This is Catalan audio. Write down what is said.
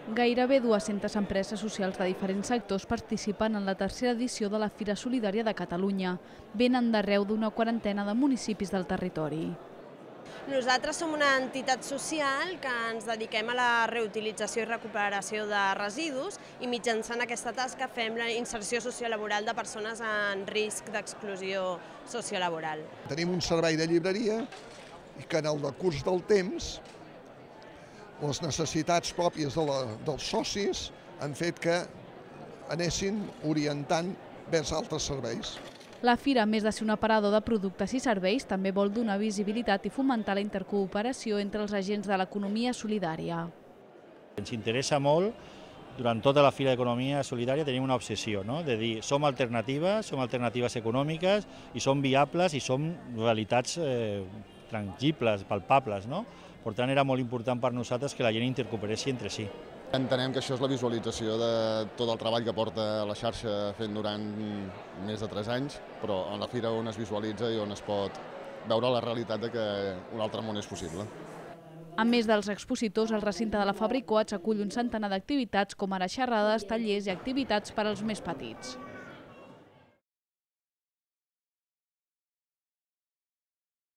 Gairebé 200 empreses socials de diferents sectors participen en la tercera edició de la Fira Solidària de Catalunya. Venen d'arreu d'una quarantena de municipis del territori. Nosaltres som una entitat social que ens dediquem a la reutilització i recuperació de residus i mitjançant aquesta tasca fem la inserció sociolaboral de persones en risc d'exclusió sociolaboral. Tenim un servei de llibreria i que en el decurs del temps les necessitats pròpies dels socis han fet que anessin orientant vers altres serveis. La fira, a més de ser un aparador de productes i serveis, també vol donar visibilitat i fomentar la intercooperació entre els agents de l'economia solidària. Ens interessa molt, durant tota la Fira d'Economia Solidària tenim una obsessió, no? De dir som alternatives econòmiques i som viables i som realitats tangibles, palpables, no? Per tant, era molt important per nosaltres que la gent intercooperessi entre si. Entenem que això és la visualització de tot el treball que porta la xarxa fent durant més de 3 anys, però en la fira on es visualitza i on es pot veure la realitat de que un altre món és possible. A més dels expositors, el recinte de la Fabricoats acull un centenar d'activitats com ara xerrades, tallers i activitats per als més petits.